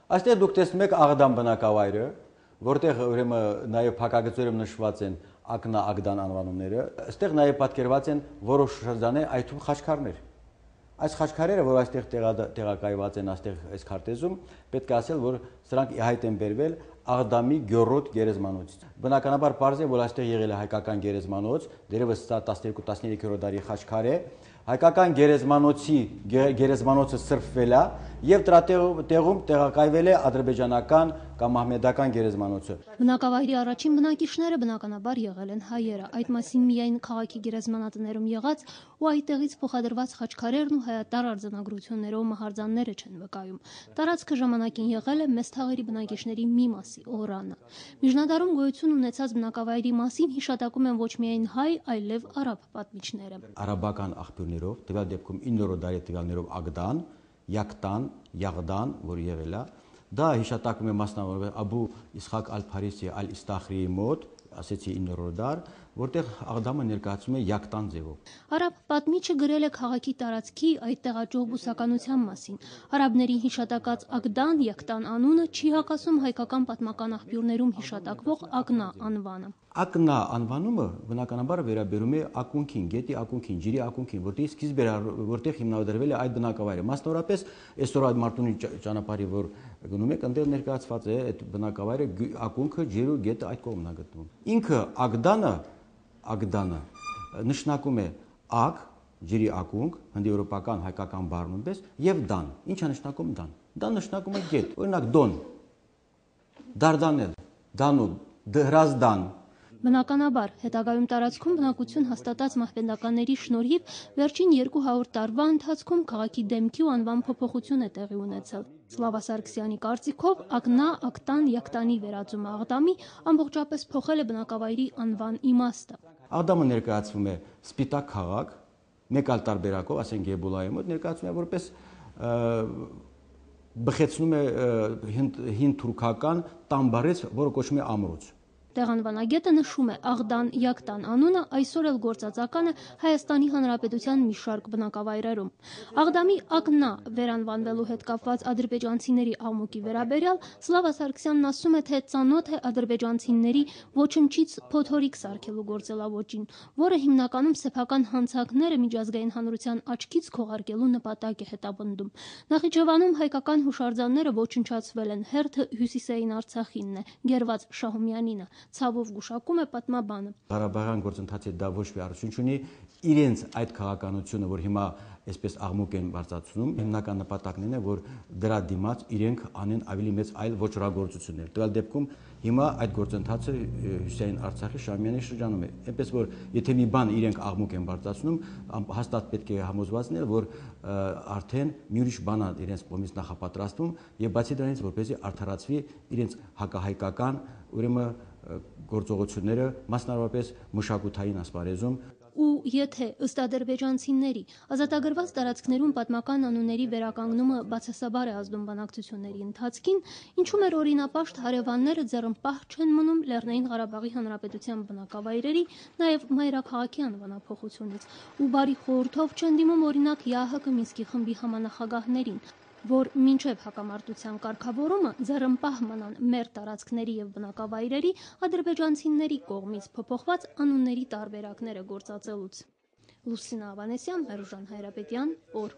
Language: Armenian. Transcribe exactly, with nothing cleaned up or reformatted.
Այստեղ դուք տեսնում եք Աղդամ բնակավայրը, որտեղ ուրեմն նաև փակագծերում նշված են Ակնա Աղդան անվանումները, այստեղ նաև պատկերված են որոշ շրջաններ, այդ թվում խաչքարներ։ Այս խաչքարերը, որ այստեղ տեղակայված են այստեղ այս քարտեզում, պետք է ասել, որ սրանք ի հայտ են բերվել Աղդամի գյոռոտ գերեզմանոցից։ Բնականաբար պարզ է, որ այստեղ եղել է հայկական գերեզմանոց, դերևս սա տասներկու տասներեքերորդ դարի խաչքար է, հայկական գերեզմանոցի գերեզմանոցը սրբվել է եւ դրա տեղում տեղակայվել է ադրբեջանական կամ մահմեդական գերեզմանոցը։ Բնակավայրի առաջին բնակիչները բնականաբար եղել են հայերը, այդ մասին միայն քաղաքի գերեզմանատներում եղած ու այդտեղից փոխադրված խաչքարերն ու հայատար արձանագրություններով մահարձանները չեն վկայում։ Տարածքը ժամանակին եղել է մեծ թաղերի բնակիչների մի մասի օրանը։ Միջնադարում գոյություն ունեցած բնակավայրի մասին հիշատակում են ոչ միայն հայ, այլև արաբ պատմիչները։ Արաբական աղբյուրներով, տվյալ դեպքում իններորդ դարի տվյալներով Աղդան, Յակտան, Յաղդան, որ եղել է, դա հիշատակում է մասնավորապես Աբու Իսխակ ալ-Փարիսի ալ-Իստախրիի մոտ, ասեցի իններորդ դար, որտեղ Աղդամը ներկայացում է Յակտան ձևով։ Արաբ պատմիչը գրել է քաղաքի տարածքի այդ տեղաճող բուսականության մասին։ Արաբների հիշատակած Աղդան, Յակտան անունը չի հակասում հայկական պատմական աղբյուրներում հիշատակվող Ակնա անվանը։ Ակնա անվանումը բնականաբար վերաբերում է ակունքին, գետի ակունքին, ջրի ակունքին, որտեղ սկիզբ էր, որտեղ հիմնադրվել է այդ բնակավայրը։ Մասնավորապես այսօր այդ Մարտունի ճանապարհի, որ գնում եք, այնտեղ ներկայացված է այդ բնակավայրը, ակունքը, ջրը, գետը այդ կողմն է գտնվում։ Ինքը Աղդանը, Աղդանը նշանակում է ակ, ջրի ակունք, հնդեվրոպական հայկական բառ նույնպես, եւ դան։ Ինչ է նշանակում դան։ Դան նշանակում է գետ։ Օրինակ Դոն, Դարդանել, Դանուբ, Դհրազդան։ Բնականաբար, հետագայում տարածքում բնակություն հաստատած մահմեդականների շնորհիվ վերջին երկու հարյուր տարվա ընթացքում քաղաքի դեմքի ու անվան փոփոխություն է տեղի ունեցել։ Սլավա Սարգսյանի կարծիքով Ակնա, Ակտան, Յակտանի վերածումը Աղդամի ամբողջապես փոխել է բնակավայրի անվան իմաստը։ Աղդամը ներկայացվում է սպիտակ քաղաք, մեկ այլ տարբերակով, ասենք Եբուլայի մոտ ներկայացվում է որպես բխեցնում է հին թուրքական տամբարից, որը կոչվում է ամրոց։ Տեղանվանագետը նշում է Աղդան, Յակտան անունը այսօր էլ գործածական է Հայաստանի Հանրապետության մի շարք բնակավայրերում։ Աղդամի Ակնա վերանվանվելու հետ կապված ադրբեջանցիների աղմուկի վերաբերյալ Սլավա Սարգսյանն ասում է, թե ծանոթ է ադրբեջանցիների ոչնչից փոթորիկ սարքելու գործելավոճին, որը հիմնականում սեփական հանցանքները միջազգային հանրության աչքից քողարկելու նպատակ է հետապնդում։ Նախիջևանում հայկական հուշարձանները ոչնչացվել են, հերթը Հյուսիսային Արցախինն է, Գերված Շահումյանինը։ Ցավով գուշակում է պատմաբանը։ Ղարաբաղյան գործընթացի դա ոչ մի արդյունք չունի, իրենց այդ քաղաքականությունը, որ հիմա այսպես աղմուկ են բարձրացնում, հիմնական նպատակն է, որ դրա դիմաց իրենք անեն ավելի մեծ այլ ոչռագործություններ։ Տվյալ դեպքում հիմա այդ գործընթացը Հյուսիսային Արցախի Շահումյանի շրջանում է։ Այնպես որ եթե մի բան իրենք աղմուկ են բարձրացնում, հաստատ պետք է համոզված լինել, որ արդեն մի ուրիշ բան է իրենց կողմից նախապատրաստվում եւ բացի դրանից որպեսզի արդարացվի իրենց հակահայկական ուրեմն գործողությունները, մասնավորապես մշակութային ասպարեզում։ Ու եթե ըստ ադրբեջանցիների ազատագրված տարածքներում պատմական անունների վերականգնումը բացասաբար է ազդում բանակցությունների ընթացքին, ինչու մեր օրինապաշտ հարևանները ձեռնպահ չեն մնում Լեռնային Ղարաբաղի Հանրապետության բնակավայրերի, նաև մայրաքաղաքի անվանափոխությունից, ու բարի խորհրդով չեն դիմում օրինակ ԵԱՀԿ Մինսկի խմբի համանախագահներին, որ մինչև հակամարտության կարգավորումը ձեռնպահ մնան մեր տարածքների եւ բնակավայրերի ադրբեջանցիների կողմից փոփոխված անունների տարբերակները գործածելուց։ Լուսինա Ավանեսյան, Մերուժան Հայրապետյան, օր